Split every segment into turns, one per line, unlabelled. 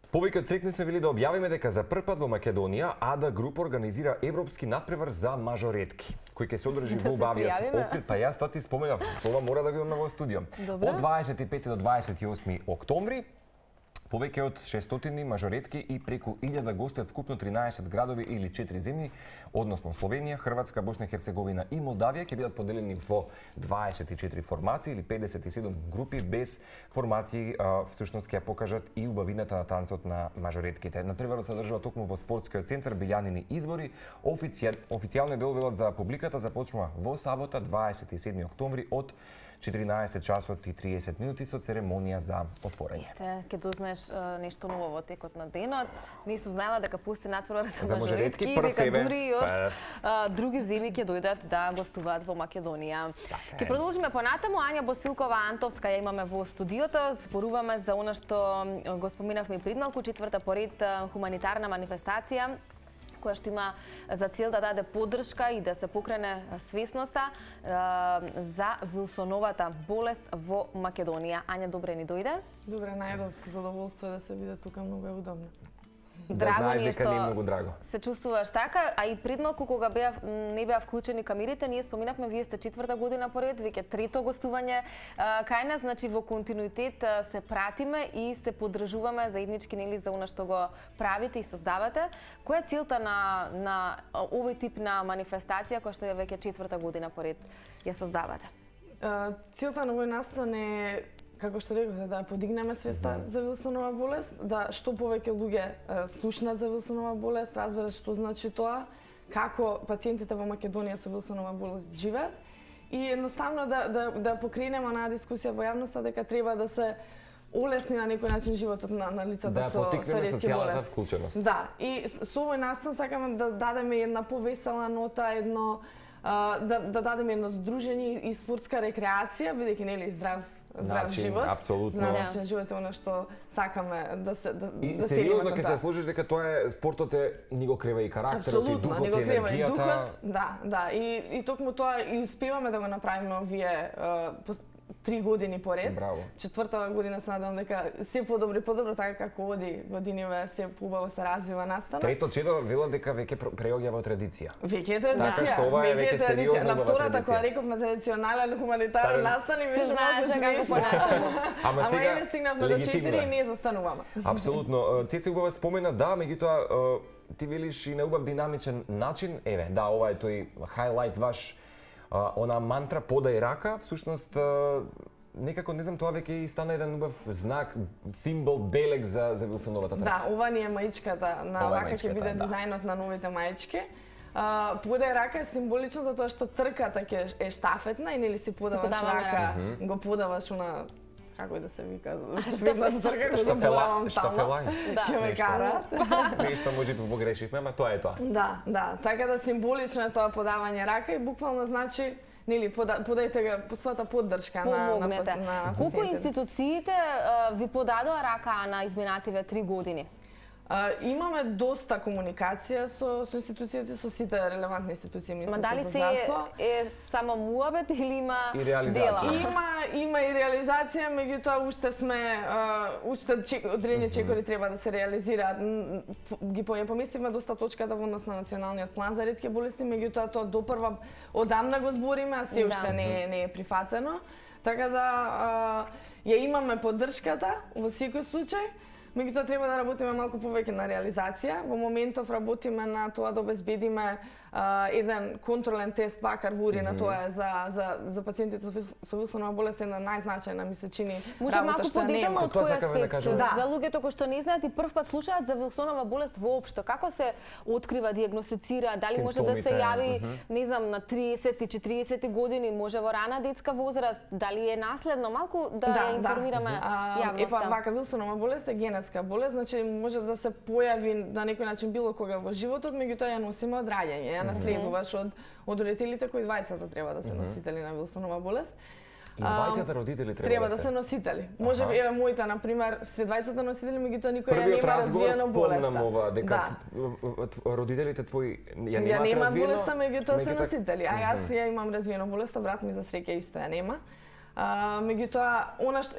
Повеќе од срекни сме били да објавиме дека за прв пат во Македонија АДА Груп организира европски натпревар за мажоретки, кој ќе се одржи во убавиот Охрид. Па јас тоа ти споменав, тоа мора да го имаме во студио. Од 25 до 28 октомври повеќе од 600 мажоретки и преку 1000 гости од вкупно 13 градови или 4 земји, односно Словенија, Хрватска, Босна и Херцеговина и Молдавија, ќе бидат поделени во 24 формации или 57 групи без формации, всушност ќе покажат и убавината на танцот на мажоретките. Натпреварот се одржува токму во спортскиот центар Билјанини избори. Официјалниот дел велат за публиката започнува во сабота 27 октомври од 14 часот и 30 минути со церемонија за отворање.
Ке дознаеш нешто ново во текот на денот. Не сум знаела дека пусти натпреварот за мажоретки, дека дури од други земји ќе дојдат да гостуваат во Македонија. Ке продолжиме понатаму. Ања Босилкова Антовска ја имаме во студиото. Зборуваме за она што го споменавме и предмалку, четврта поред хуманитарна манифестација која што има за цел да даде поддршка и да се покрене свесноста за Вилсоновата болест во Македонија. Ања, добре ни дојде?
Добре, најдов. Задоволство да се биде тука, многу е удобно.
Драго ни е што
многу драго
се чувствуваш така, а и предмалку кога не беа вклучени камерите, ние споминавме, вие сте четврта година поред, веќе трето гостување кај нас, значи во континуитет се пратиме и се поддржуваме заеднички нели за она што го правите и создавате. Која е целта на овој тип на манифестација која што е веќе четврта година поред ја создавате?
Целта на овој настан е, како што реков, да подигнеме свеста за Вилсонова болест, да што повеќе луѓе слушнат за Вилсонова болест, разберат што значи тоа, како пациентите во Македонија со Вилсонова болест живеат и едноставно да покренеме онаа дискусија во јавноста дека треба да се олесни на некој начин животот на лицата со ретки болести.
Вклученост.
Да, и со овој настан сакаме да дадеме една повесела нота, едно да дадеме едно здружење и спортска рекреација, бидејќи нели здрав живот.
Апсолутно.
Начин живот е она што сакаме да се
и сериозно ќе се служиш дека тоа е спортот ни го крива и карактерот, и духот, и енергијата.
Да, и токму тоа и успеваме да го направиме овие 3 години поред.
Браво.
Четвртава година се надевам дека се подобро, така како оди годиниве се убаво се развива настанот.
Трето чедо вела дека веќе преоѓа во традиција.
Веќе е традиција.
Така што ова е веќе сериозно.
На втората која рековме традиционален хуманитарен настан и беше
знаеше како понатаму.
Ама сега
еве стигнавме до 4 и не застануваме.
Апсолутно. Цеце убава спомена, да, меѓутоа ти велиш и на убав динамичен начин. Еве, да, ова е тој хайлайт ваш, она мантра подај рака, всушност некако не знам, тоа веќе и стана еден убав знак, символ, белег за Вилсоновата трака.
Да, ова ни е маичката на вака ќе биде дизајнот на новите маички. Подај рака е символично затоа што трката ќе е штафетна и нели си подаваш рака, го подаваш на како и да се вика, штафетната трка која заборавам стално. Ќе ме кара.
Нешто можеби погрешивме, ама тоа е тоа.
Да, така да символично е тоа подавање рака и буквално значи нели подајте ga по својата поддршка на пациентите.
Колку институциите ви подадоа рака на изминативе 3 години?
Имаме доста комуникација со институциите, со сите релевантни институции,
Ма дали се е само муабет или има дела?
Има и реализација, меѓутоа уште одредени чекори треба да се реализираат. Ги поместивме доста точката во однос на националниот план за ретки болести, меѓутоа тоа допрва одамна го збориме, а се уште не е прифатено. Така да ја имаме поддршката во секој случај. Меѓутоа треба да работиме малку повеќе на реализација. Во моментов работиме на тоа да обезбедиме еден контролен тест бакар во урина, тоа е за пациентите со Вилсонова болест една најзначајна ми се чини
може
работа
што не има. Од кој аспект?
Да.
За луѓето кои што не знаат и прв пат слушаат за Вилсонова болест воопшто, како се открива, диагностицира, дали може да се јави, не знам, на 30 и 40 години, може во рана детска возраст, дали е наследно, малку да ја информираме јавноста.
Епа вака Вилсонова болест е генетска болест, значи може да се појави на некој начин било кога во животот, меѓутоа ја носиме од раѓање, ја наследуваш од родителите кои двајцата треба да се носители на Вилсонова болест.
И двајцата родители
треба да се носители. Може би еве моите на пример се двајцата носители, меѓутоа никој ја нема развиено болеста.
Помнам ова дека родителите твои ја
немаат болеста, меѓутоа се носители. А јас ја имам развиено болеста, брат ми за среќа исто ја нема. Меѓутоа, она што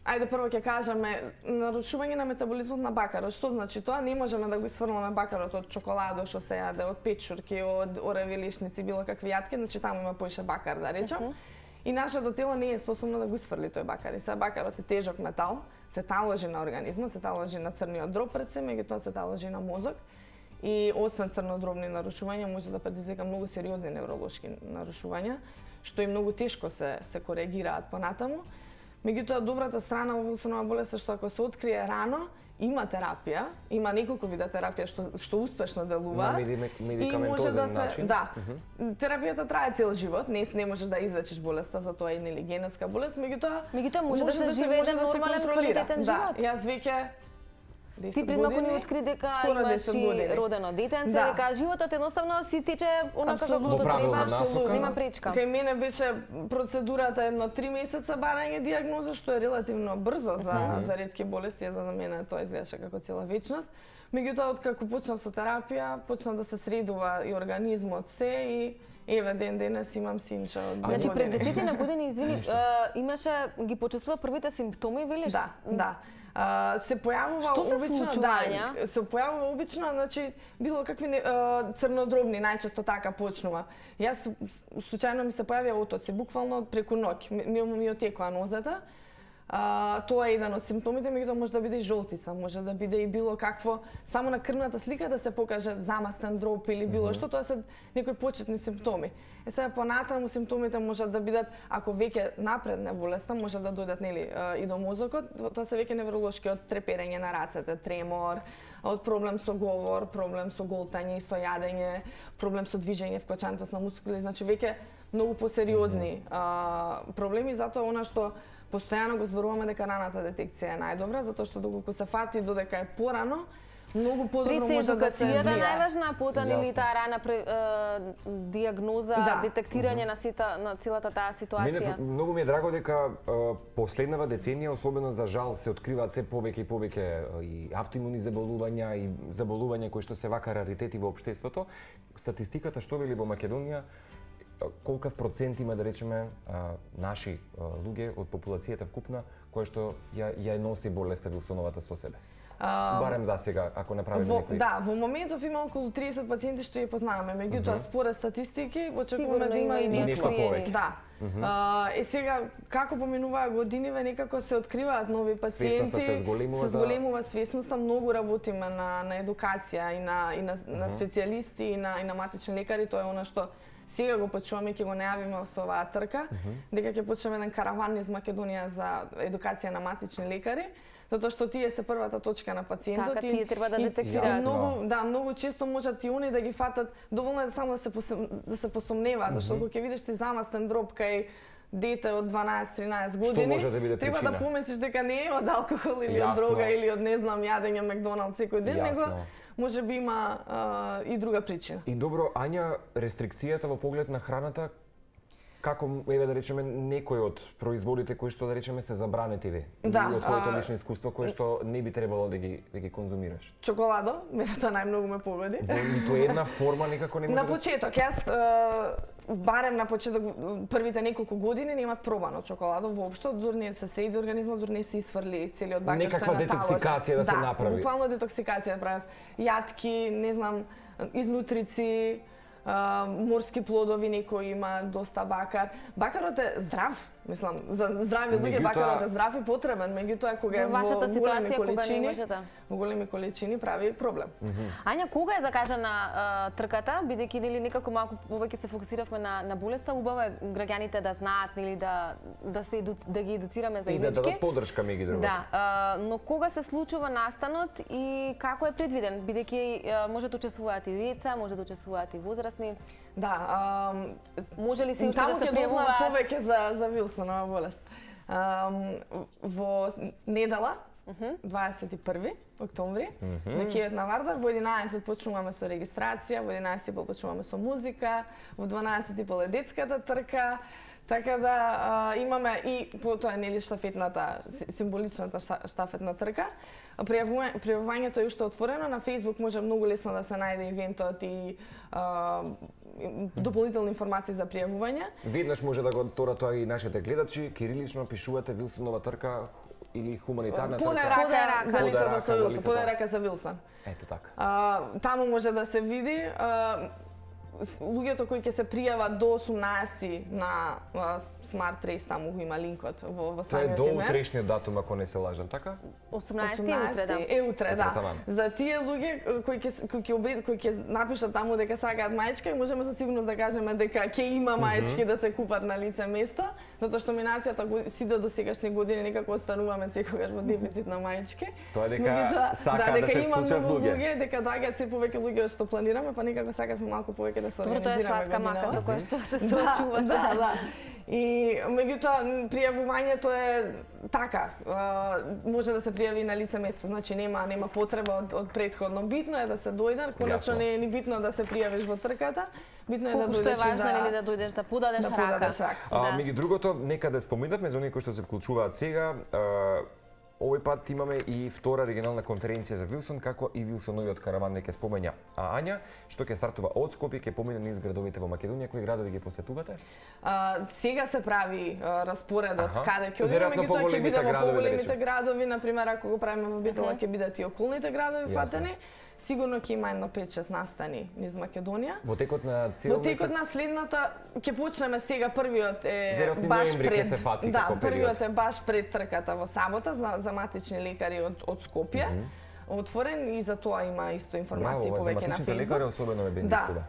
ајде прво ќе кажеме, нарушување на метаболизмот на бакарот. Што значи тоа? Не можеме да го исфрламе бакарот од чоколадо што се јаде, од печурки, од ореви лишници, било какви јатки, значи таму има поише бакар, да речем. И нашето тело не е способно да го исфрли тој бакар. И сега бакарот е тежок метал, се таложи на организмот, се таложи на црниот дроб пред се, меѓутоа се таложи на мозок. И освен црнодробни нарушувања може да предизвика многу сериозни невролошки нарушувања, што и многу тешко се коригираат понатаму. Меѓутоа, добрата страна во Вилсонова болест е што ако се открие рано, има терапија, има неколку вида терапија што успешно делуваат.
На медикаментозен начин?
Да. Терапијата трае цел живот, не можеш да излечиш болеста, затоа е нели генетска болест, меѓутоа
може да се живее нормален квалитетен живот.
Да, јас веќе
Ти пред малку ни откри дека имаш и родено детенце, дека животот едноставно си тече онака како што треба, нема пречка.
Кај мене беше процедурата едно 3 месеца барање дијагноза, што е релативно брзо за ретки болести, за мене тоа изгледаше како цела вечност. Меѓутоа, откако почнав со терапија, почна да се средува и организмот се и еве ден денес имам синче од 2 години.
Значи пред 10 години, извини, имаше ги почувствува првите симптоми, велиш?
Да. Се појавува обично, се појавува обично, значи било какви црнодробни, најчесто така почнува. Јас случајно ми се појавија отоци, буквално преку ноќ, ми отекоа нозата. Тоа е еден од симптомите, меѓутоа може да биде и жолтица, може да биде и било какво, само на крвната слика да се покаже замастен дроб или било што, тоа се некои почетни симптоми. Е сега понатаму симптомите можат да бидат, ако веќе напредне болеста, може да дојдат нели и до мозокот, тоа се веќе невролошки, од треперење на рацете, тремор, од проблем со говор, проблем со голтање и со јадење, проблем со движење, вкочаност на мускули, значи веќе многу посериозни проблеми, затоа она што постојано го зборуваме дека раната детекција е најдобра, затоа што доколку се фати додека е порано, многу подобро може да се влијае.
Пред се најважна, потоа или таа рана дијагноза, детектирање на целата таа ситуација.
Мене многу ми е драго дека последнава деценија, особено за жал, се откриваат се повеќе и повеќе и автоимуни заболувања и заболувања кои што се вака раритети во општеството. Статистиката што вели во Македонија, колкав процент има, да речеме, наши луѓе од популацијата вкупна која што ја носи болеста Вилсоновата со себе? Барем за сега, ако направиме некои...
Да, во моментов има околу 30 пациенти што ја познаваме, меѓутоа според статистики очекуваме да има и
нешто повеќе.
Да. Сега како поминуваат годиниве, некако се откриваат нови пациенти, се зголемува свесноста, многу работиме на едукација и на специјалисти и на матични лекари, тоа е она што сега го почуваме, ќе го најавиме со оваа трка, дека ќе почнеме еден караван низ Македонија за едукација на матични лекари, затоа што тие се првата точка на пациентот.
Така, тие треба да детектираат.
Многу често можат и они да ги фатат, доволно е само да се посомнева, зашто кога ќе видиш ти замастен дроб кај дете од 12-13 години, треба да помислиш дека не е од алкохол или од дрога или од не знам јадење Макдоналдс секој ден, него може би има и друга причина.
И добро, Ања, рестрикцијата во поглед на храната, како, еве да речеме, некои од производите кои што да речеме се забранети од твоето лично искуство, кои што не би требало да ги конзумираш?
Чоколадо, мене тоа најмногу ме погоди.
Во ниту една форма некако не може
на почеток, јас барем на почеток првите неколку години немав пробано чоколадо воопшто, дури не се среди организмот, дури не се исфрли целиот бакар што е
некаква детоксикација да се направи.
Да, буквално детоксикација правев. Јатки, не знам, изнутрици, морски плодови, некои има доста бакар. Бакарот е здрав, мислам, за здрави луѓе бакарот е здрав и потребен, меѓутоа кога е во големи количини прави проблем.
Ања, кога е закажана трката, бидејќи нели некако малку повеќе се фокусиравме на болеста, убаво е граѓаните да знаат, нели да ги едуцираме заеднички.
И да дадат подршка меѓу другото.
Да, но кога се случува настанот и како е предвиден, бидејќи може да учествуваат и деца, може да учествуваат и возрастни.
Да,
може ли се уште да се пријавуваат
повеќе за Вилсонова болест? Во недела, 21 октомври, на кејот на Вардар, во 11 почнуваме со регистрација, во 11 почнуваме со музика, во 12 е детската трка, така да имаме и потоа нели штафетната, символичната штафетна трка. Пријавувањето е уште отворено, на Facebook може многу лесно да се најде ивентот и дополнителни информации за пријавување.
Веднаш може да го сторат тоа и нашите гледачи, кирилично пишувате Вилсонова трка или хуманитарна трка?
Подерака за лицата со Вилсон, подерака за Вилсон.
Ето така.
Таму може да се види луѓето кои ќе се пријават до 18 на Smart Race, таму го има линкот во самиот
имейл. Тоа е до утрешниот датум, ако не се лажам, така?
18
е утре, да. За тие луѓе кои ќе напишат таму дека сакаат маечка, можеме со сигурност да кажеме дека ќе има маечки да се купат на лице место, затоа што минацијата сите досегашни години некако остануваме секогаш во дефицит на маечки.
Тоа е дека сакаат да се вклучат луѓе.
Дека доаѓаат се повеќе луѓе што планираме, па некако сакавме малку повеќе да се организираме.
Добро, тоа е сладка мака со која што се соочувате.
Да. И меѓутоа пријавувањето е така, може да се пријави на лице место, значи нема потреба од претходно. Битно е да се дојде, конечно не е ни битно да се пријавиш во трката, битно е да дојдеш
што е важно нели да дојдеш да подадеш рака.
Меѓу другото, некаде споминавме за оние кои што се вклучуваат сега, овој пат имаме и втора регионална конференција за Вилсон, како и Вилсоновиот караван не ќе спомења. А Ања, што ќе стартува од Скопје, ќе помине низ градовите во Македонија, кои градови ги посетувате?
Сега се прави распоредот каде ќе одиме, меѓутоа ќе биде во поголемите градови, например ако го правиме во Битола ќе бидат и околните градови фатени. Сигурно ќе има едно 5-6 настани низ Македонија.
Во текот на цел месец?
Во текот на следната ќе почнеме сега, првиот е баш пред. Да, првиот е баш пред трката во сабота за матични лекари од Скопје. Отворен и за тоа има исто информации повеќе на
Facebook. За матичните лекари особено ме бендисува.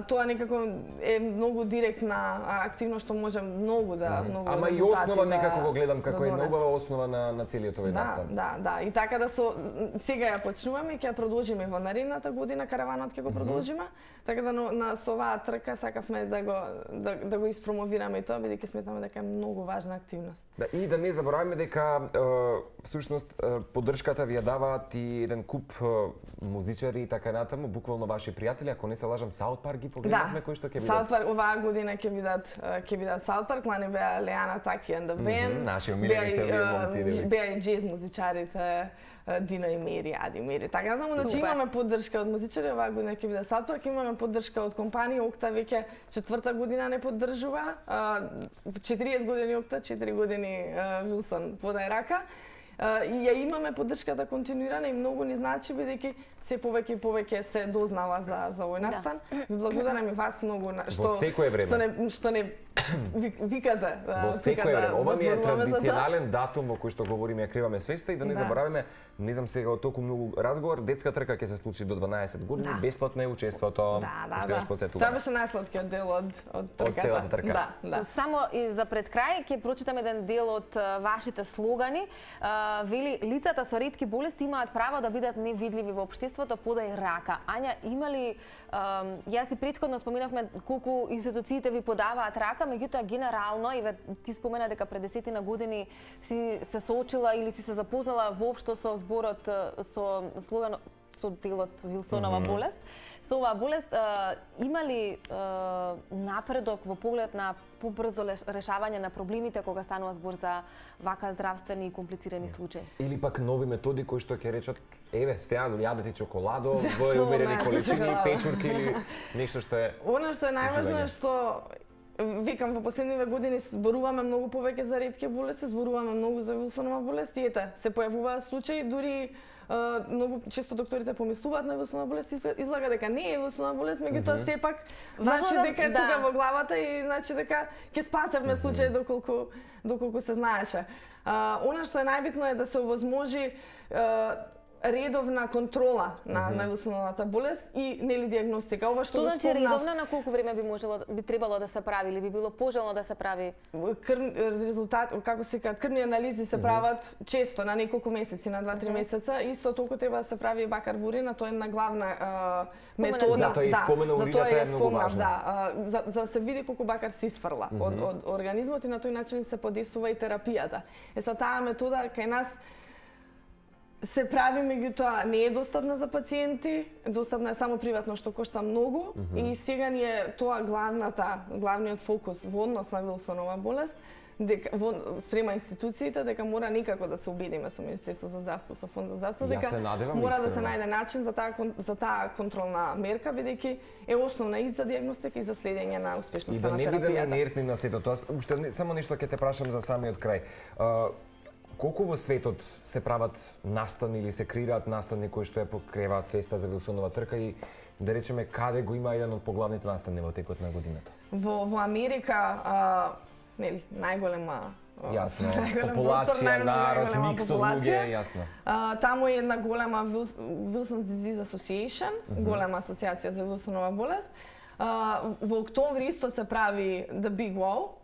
Тоа некако е многу директна активност што може многу да
Ама и основа некако го гледам како е многу основа на целиот овој настан.
Да, и така да сега ја почнуваме, ќе ја продолжиме во наредната година, караванот ќе го продолжиме, така да со оваа трка сакавме да го испромовираме и тоа, бидејќи сметаме дека е многу важна активност.
Да, и да не забораваме дека всушност поддршката ви ја даваат и еден куп музичари и така натаму, буквално ваши пријатели, ако не се лажам, Саут Парк ги погледнавме кои што ќе бидат.
Саут Парк оваа година ќе бидат Саут Парк, лани беа Леана Таки and the Band.
Наши умилени се овие момци.
Беа и джез музичарите Дино и Мери, Ади Мери. Така да значи имаме поддршка од музичари, оваа година ќе биде Саут Парк, имаме поддршка од компанија Окта, веќе 4-та година не поддржува. 40 години Окта, 4 години Вилсон подај рака. И ја имаме поддршката континуирана и многу ни значи, бидејќи се повеќе и повеќе се дознава за овој настан. Ви благодарам и вас многу што не викате.
Во секое време. Ова ми е традиционален датум во кој што говориме, ја криваме свеста и да не забораваме, не знам сега од толку многу разговор, детска трка ќе се случи до 12 години, бесплатно е учеството. Тоа
беше најслаткиот дел од трката.
Да. Само и за пред крај ќе прочитам еден дел од вашите слогани. Вели, лицата со ретки болести имаат право да бидат невидливи во општеството, подај рака. Ања, има ли, јас и претходно споминавме колку институциите ви подаваат рака, меѓутоа генерално, и ти спомена дека пред 10 години си се соочила или си се запознала воопшто со зборот, со слоганот, со делот Вилсонова болест. Со оваа болест има ли напредок во поглед на побрзо решавање на проблемите кога станува збор за вака здравствени и комплицирани случаи?
Или пак нови методи кои што ќе речат, еве, стеа јадете чоколадо во умерени количини, печурки или нешто што е.
Она што е најважно е што викам, во последниве години зборуваме многу повеќе за ретки болести, зборуваме многу за Вилсонова болест и ете, се појавуваат случаи, дури многу често докторите помислуваат на Вилсонова болест и излага дека не е Вилсонова болест, меѓутоа сепак значи дека е тука во главата и значи дека ќе спасевме случај доколку се знаеше. Она што е најбитно е да се овозможи редовна контрола на Вилсоновата болест и нели диагностика. Ова што
значи редовна, на колку време би требало да се прави или би било пожелно да се прави?
Резултат, како се кажат, крвни анализи се прават често, на неколку месеци, на 2-3 месеца. Исто толку треба да се прави и бакар во урина, тоа е една главна метода.
Затоа и спомена урината е многу важно.
За да се види колку бакар се исфрла од организмот и на тој начин се подесува и терапијата. Таа метода кај нас се прави, меѓутоа не е достапна за пациенти, достапна е само приватно, што кошта многу и сега ни е тоа главниот фокус во однос на Вилсонова болест, спрема институциите дека мора никако да се убедиме со Министерство за здравство, со Фонд за здравство, дека мора да се најде начин за таа контролна мерка, бидејќи е основна и за дијагностика и за следење на успешноста на терапијата.
И да не бидеме инертни на сето тоа. Уште само нешто ќе те прашам за самиот крај. Колку во светот се прават настани или се креираат настани кои што ја покреваат свеста за Вилсонова трка и да речеме каде го има еден од поглавните настани во текот на годината?
Во Америка, нели, најголема
популација, народ, микс од луѓе, јасно.
Таму е една голема Wilson's Disease Association, голема асоциација за Вилсонова болест. Во октомври исто се прави The Big Wow,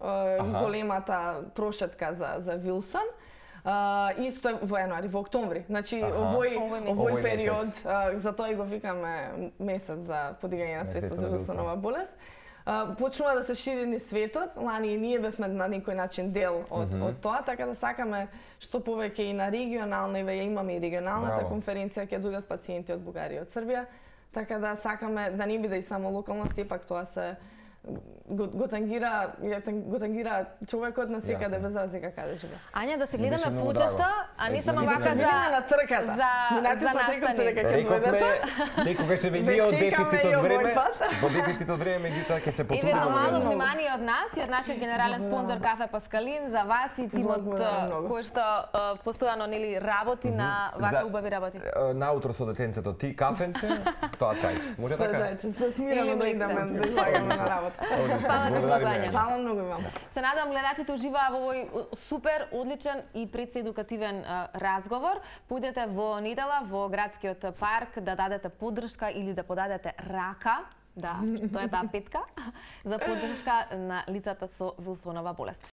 големата прошетка за Вилсон. Исто во јануари, во октомври. Значи, овој период, затоа и го викаме месец за подигање на свеста за Вилсонова болест. Почнува да се шири низ светот, лани и ние бевме на некој начин дел од тоа, така да сакаме што повеќе и на регионална, и ја имаме и регионалната конференција, ќе дојдат пациенти од Бугарија и од Србија, така да сакаме да не биде и само локално, сепак тоа се го тангира човекот на секаде без разлика каде живее.
Ања, да се гледаме почесто, а не само вака
на трката.
За настани.
Некога ќе види од дефицит од време, во дефицит од време, меѓутоа ќе се потрудиме.
Едно мало внимание од нас и од нашиот генерален спонзор Кафе Паскалин за вас и тимот кој што постојано нели работи на вака убави работи.
Наутро со детенцето ти кафенце, тоа чајче. Може така?
Тоа чајче, се смираме да идеме да излагаме на работа.
Фала ти Гања.
Фала многу вам.
Се надам гледачите уживаа во овој супер, одличен и председукативен разговор. Појдете во недела во градскиот парк да дадете поддршка или да подадете рака, да, тоа е таа петка, за поддршка на лицата со Вилсонова болест.